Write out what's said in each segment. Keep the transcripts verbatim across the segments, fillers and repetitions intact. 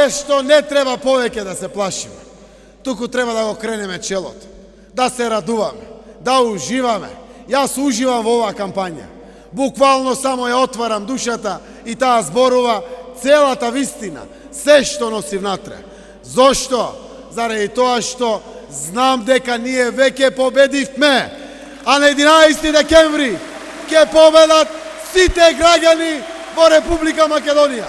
нешто не треба повеќе да се плашиме. Туку треба да го кренеме челото, да се радуваме, да уживаме. Јас уживам во оваа кампања. Буквално само ја отварам душата и таа зборува целата вистина, се што носи внатре. Зошто? Заради тоа што знам дека ние веќе победивме, а на единаесети декември ќе победат сите граѓани во Република Македонија.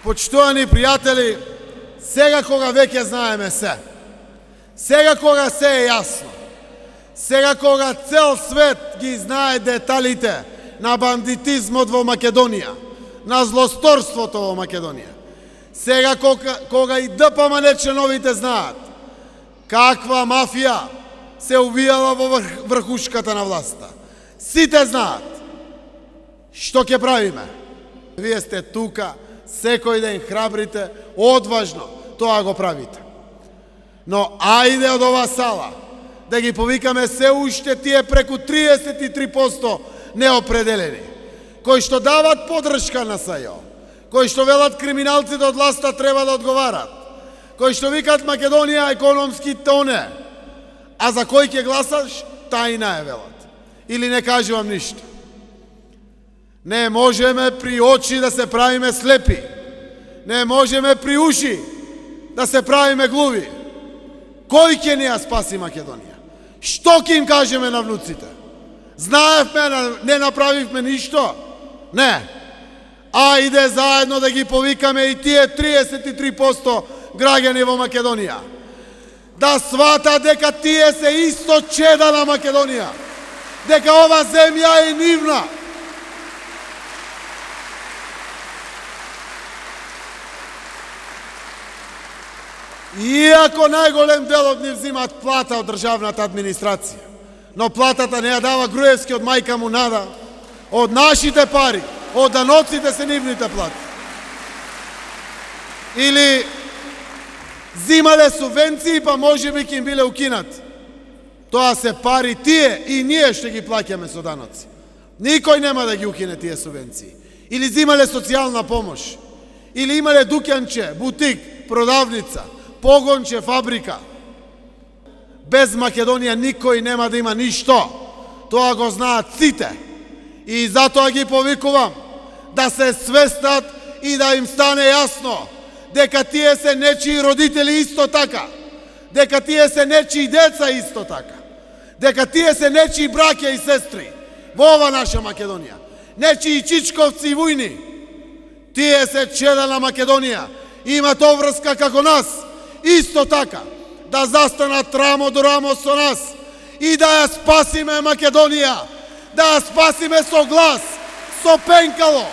Почитувани пријатели, сега кога веќе знаеме се, сега кога се е јасно, сега кога цел свет ги знае деталите на бандитизмот во Македонија, на злосторството во Македонија, сега кога, кога и ДПМН членовите знаат каква мафија се увијала во врхушката на власта, сите знаат што ќе правиме. Вие сте тука, секој ден храбрите, одважно тоа го правите. Но ајде од оваа сала да ги повикаме се уште тие преку триесет и три проценти неопределени, кои што дават поддршка на СЈО, кои што велат криминалците од власта треба да одговарат, кои што викат Македонија економски тоне, а за кој ќе гласаш, тајна е велат. Или не кажувам ништо. Не можеме при очи да се правиме слепи. Не можеме при уши да се правиме глуви. Кој ќе ни ја спаси Македонија? Што ќе им кажеме на внуците? Знаевме, не направивме ништо? Не. Ајде заедно да ги повикаме и тие триесет и три проценти граѓани во Македонија. Да свата дека тие се исто чеда на Македонија. Дека ова земја е нивна. Иако најголем дел од нив взимат плата од државната администрација, но платата не ја дава Груевски од мајка му Нада, од нашите пари, од даноците се нивните плати. Или взимале субвенции, па може би ќе им биле укинат. Тоа се пари тие и ние ще ги плаќаме со даноци. Никој нема да ги укине тие субвенции. Или взимале социјална помош, или имале дуканче, бутик, продавница, погонче, фабрика. Без Македонија никој нема да има ништо. Тоа го знаат сите. И затоа ги повикувам да се свестат и да им стане јасно дека тие се нечии родители исто така, дека тие се нечии деца исто така, дека тие се нечии браќа и сестри во ова наша Македонија, нечии чичковци и вујни. Тие се чеда на Македонија, имат обврска како нас, исто така, да застанат рамо до рамо со нас и да ја спасиме Македонија, да ја спасиме со глас, со пенкало,